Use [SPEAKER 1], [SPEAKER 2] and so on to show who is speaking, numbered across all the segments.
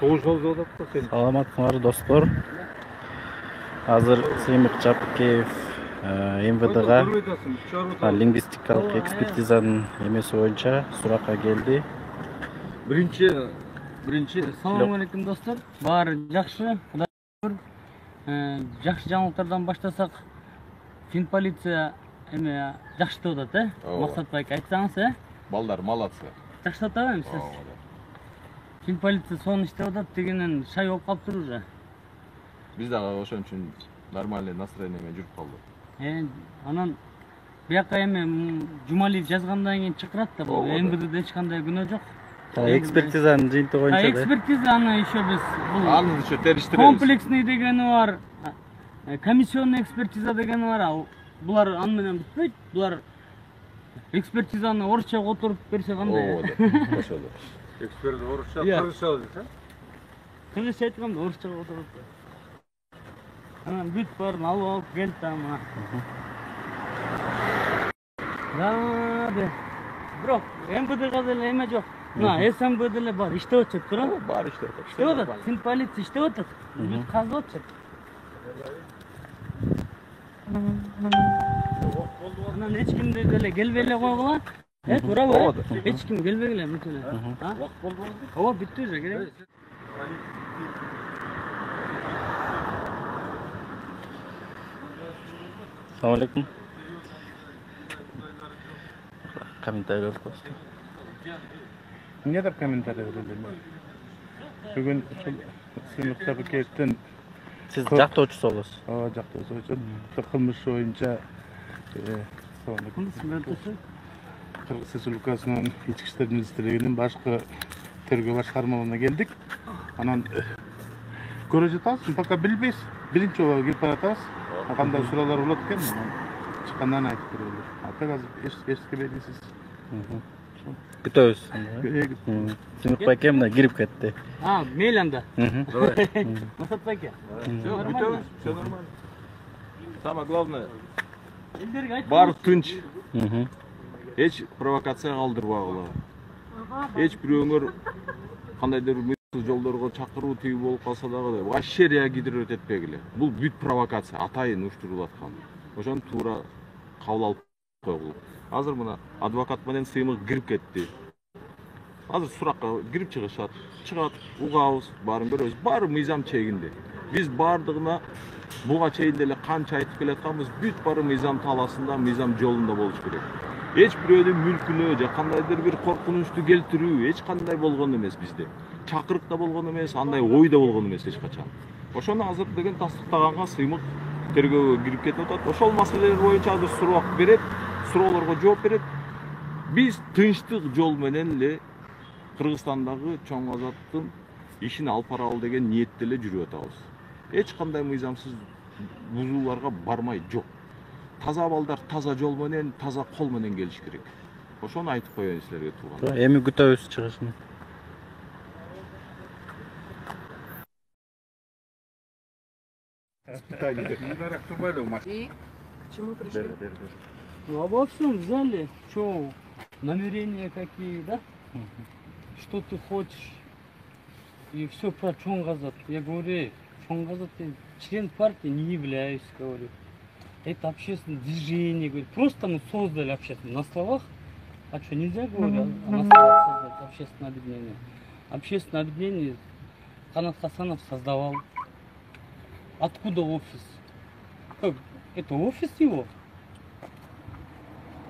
[SPEAKER 1] Согуш алып атат сен.
[SPEAKER 2] Саламатсыңар достор. Азыр Сыймык Жапкеев МВДга лингвистикалык экспертизанын эмеси боюнча суракка келди.
[SPEAKER 3] Биринчи салам алейкум достор. Баары жакшы. Кудай шүгүр. Жакшы жаңылыктардан баштасак, фин полиция эме жакшы деп атат, Максат байке айтсаңыз,
[SPEAKER 1] Балдар молодцы.
[SPEAKER 3] Жакшы деп атабы сиз? Фин полиция сонун иштеп атат дегенен шай болуп калыптыр уже.
[SPEAKER 1] Биз дагы ошон үчүн нормальный настроение менен жүрүп калдык.
[SPEAKER 3] Анан бияка эми Жумалиев жазгандан кийин чакырат да, бул МВДде эч кандай күнөө жок.
[SPEAKER 2] Экспертизанын жыйынтыгы боюнча.
[SPEAKER 3] Экспертиза аны еще биз
[SPEAKER 1] аны еще териштиребиз.
[SPEAKER 3] Комплексный дегени бар, комиссионный экспертиза дегени бар. Булар аны менен бүтпөйт. Булар экспертизаны орусча которуп берсе кандай?
[SPEAKER 1] Ошол.
[SPEAKER 4] Эксперт орусча, кыргызча дейт,
[SPEAKER 3] Кыргызча айтканда орусча которуп. Анан бүт баарын алып келди ама. Бирок МВДга деле эме жок. Мына СМБ деле бар, иштеп атат, туурабы?
[SPEAKER 1] Бар иштеп атат.
[SPEAKER 3] Иштеп атат. Фин полиция иштеп атат. Бүт казып атат. Анан эч кимди деле келбей эле койгула. Туурабы? Эч ким келбей эле мүт эле. Убакыт болду. Ооба, бүттү уже, керек.
[SPEAKER 2] Assalamu alaikum. Комментарий просто.
[SPEAKER 5] Не деп комментарий бердим? Бүгүн ушул Сыймык Жапкеевдин
[SPEAKER 2] Сиз жактоочусу болосуз.
[SPEAKER 5] Ооба, жактоочусу. Кылмыш боюнча Кыргыз Республикасынын Ички иштер министрлигинин башкы тергөө башкармаларына келдик. Анан көрө жатабыз, пока билбейбиз. Биринчи жолу кирип баратабыз. Кандай суроолор болот экен, чыккандан айтып берелер. Ата азыр эчке белгисиз.
[SPEAKER 2] Күтөбүз. Сыймык байке мына кирип кетти.
[SPEAKER 3] Мейли анда. Максат байке.
[SPEAKER 1] Бүтөбүз, всё нормально. Самое главное, баары тынч. Эч провокация калтырбагыла. Эч бирөөңөр кандайдыр мыйзамсыз жолдорго чакыруу тиги болуп калса дагы вообще реагировать этпегиле. Бул бүт провокация, атайын уюштурулуп аткан. Ошону туура кабыл алып койгула. Азыр мына адвокат менен Сыймык кирип кетти. Азыр суракка кирип чыгышат. Чыгат, угабыз, баарын көрөбүз. Баары мыйзам чегинде. Биз баардыгына буга чейин деле канча айтып келатканбыз, бүт баары мыйзам талаасында, мыйзам жолунда болуш керек. Эч бирөөнүн мүлкүнө же кандайдыр бир коркунучту келтирүү эч кандай болгон эмес бизде. Чакырык да болгон эмес, андай ой да болгон эмес эч качан. Ошону азыр деген тастыктаганга Сыймык тергөөгө кирип кетип атат. Ошол маселелер боюнча азыр суроо берет, суроолорго жооп берет. Биз тынчтык жол менен эле Кыргызстандагы чоң азаттын ишин алып баралы деген ниетте эле жүрүп атабыз. Эч кандай мыйзамсыз бузууларга бармай жок. Таза балдар таза жол менен, таза кол менен келиш керек. Ошону айтып коеюн силерге тууган.
[SPEAKER 2] Эми күтөбүз чыгышын.
[SPEAKER 4] Почему пришли?
[SPEAKER 3] Обо всем взяли, что намерения какие, да? Что ты хочешь? И все про Чонгазат. Я говорю, Чонгазат, я член партии не являюсь, говорю. Это общественное движение, говорю. Просто мы создали общественное. На словах, а что, нельзя, говорю, на словах создать общественное объединение? Общественное объединение Канат Хасанов создавал. Откуда офис? Как? Это офис его?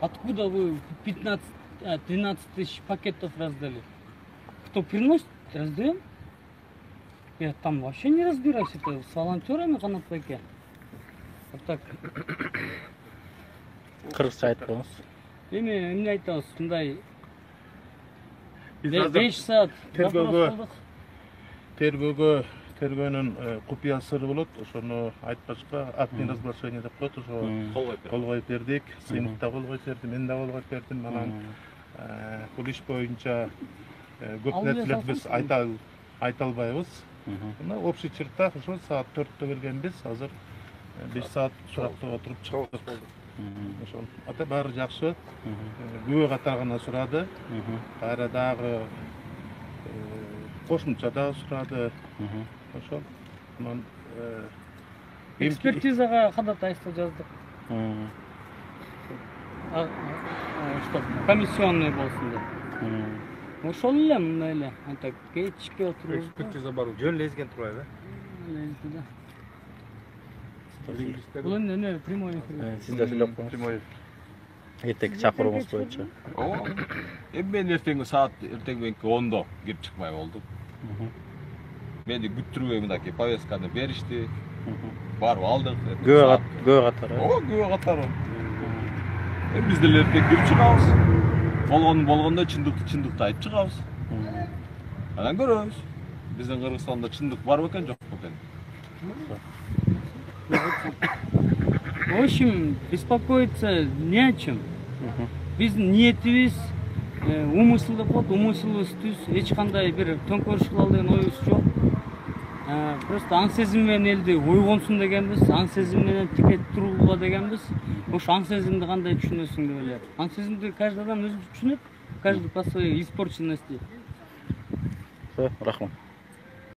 [SPEAKER 3] Откуда вы 13 тысяч пакетов раздали? Кто приносит, раздаем? Я там вообще не разбираюсь, это с волонтерами Канат байке. Вот так.
[SPEAKER 2] Кыргызча айткыңыз.
[SPEAKER 3] Эмне айтабыз, мындай 5 саат
[SPEAKER 5] тергөөнүн купуя сыры болот. Ошону айтпашка актный разглашение деп коет. Ошо кол коюп бердик. Сыймык да кол коюп берди, мен да кол коюп бердим. Анан бул иш боюнча көп нерселерди биз айта албайбыз. Мына общий черта ошо саат 4-тө келгенбиз. Азыр 5 саат суракта отуруп чыктык. Ошол ата баары жакшы. Күбө катар гана сурады. Кайра дагы кошумча дагы сурады. Ошол. Анан
[SPEAKER 3] Экспертизага ходатайство жаздык. Что комиссионный болсун деп. Ошол эле мындай эле. Антак кечке отуруп.
[SPEAKER 4] Экспертиза бар. Жөн лезген турбайбы?
[SPEAKER 3] Бул эмне прямой эфир.
[SPEAKER 2] Сиз да сүйлөп коюңуз. Эртең чакырууңуз боюнча.
[SPEAKER 1] Ооба. Мен эртең саат мененки 10-до кирип чыкмай болдум. Мени күттүрбөй мынакей повестканы беришти. Барып алдык.
[SPEAKER 2] Күбө катары.
[SPEAKER 1] Ооба, күбө катары. Биз деле эртең кирип чыгабыз. Болгондо чындыкты айтып чыгабыз. Анан көрөбүз. Биздин Кыргызстанда чындык бар бекен, жок бекен.
[SPEAKER 3] В общем, беспокоиться не о чем. Биздин ниетибиз умысыл деп коет, умысылыбыз түз, эч кандай бир төңкөрүш кылалы деген оюбуз жок. Просто аң сезим менен элди ойгонсун дегенбиз, аң сезим менен тике тургула дегенбиз. Ошо аң сезимди кандай түшүнөсүң деп эле. Аң сезимди каждый адам өзү түшүнөт, каждый по своей испорченности.
[SPEAKER 2] Рахмат.